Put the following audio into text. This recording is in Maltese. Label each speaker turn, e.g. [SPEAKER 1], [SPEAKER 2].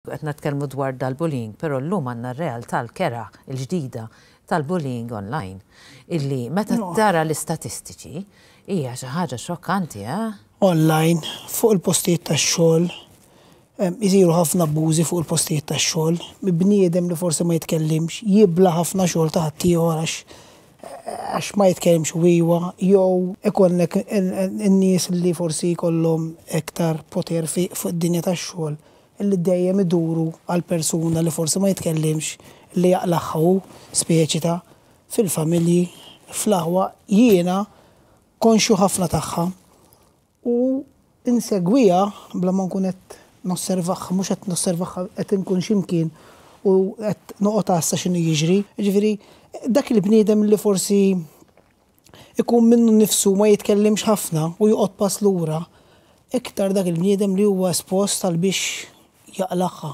[SPEAKER 1] Qed nitkellmu dwar dal-bullying, però llum għandna r-realtà l-kerha l-ġdida tal-bullying online. Illi meta tara l-istatistiċi hija xi ħaġa xokkanti, eh?
[SPEAKER 2] Online, fuq il-postijiet tax-xogħol, isiru ħafna abbużi fuq il-postijiet tax-xogħol. Bniedem li forsi ma jitkellimx, jibla ħafna xogħol ta' ħaddieħor għax ma jitkellimx u iwa, jew ikollek in-nies li forsi jkollhom iktar poter fuq id-dinja tax-xogħol li dejjem iduru għal persuna li forsi ma jitkellimx li jaqlagħha hu speċi ta' fil-familji, fl-aħwa, jiena konxju ħafna tagħha u insegwiha bla ma nkun qed nosservaha, mhux qed nosservaha qed inkun x'imkien u qed noqgħod għassa x'inhu jiġri. Jiġifieri dak il-bniedem li forsi ikun minnu nnifsu ma jitkellimx ħafna u joqgħod pass lura, iktar dak il-bniedem li huwa espost għal biex jaqlagħha.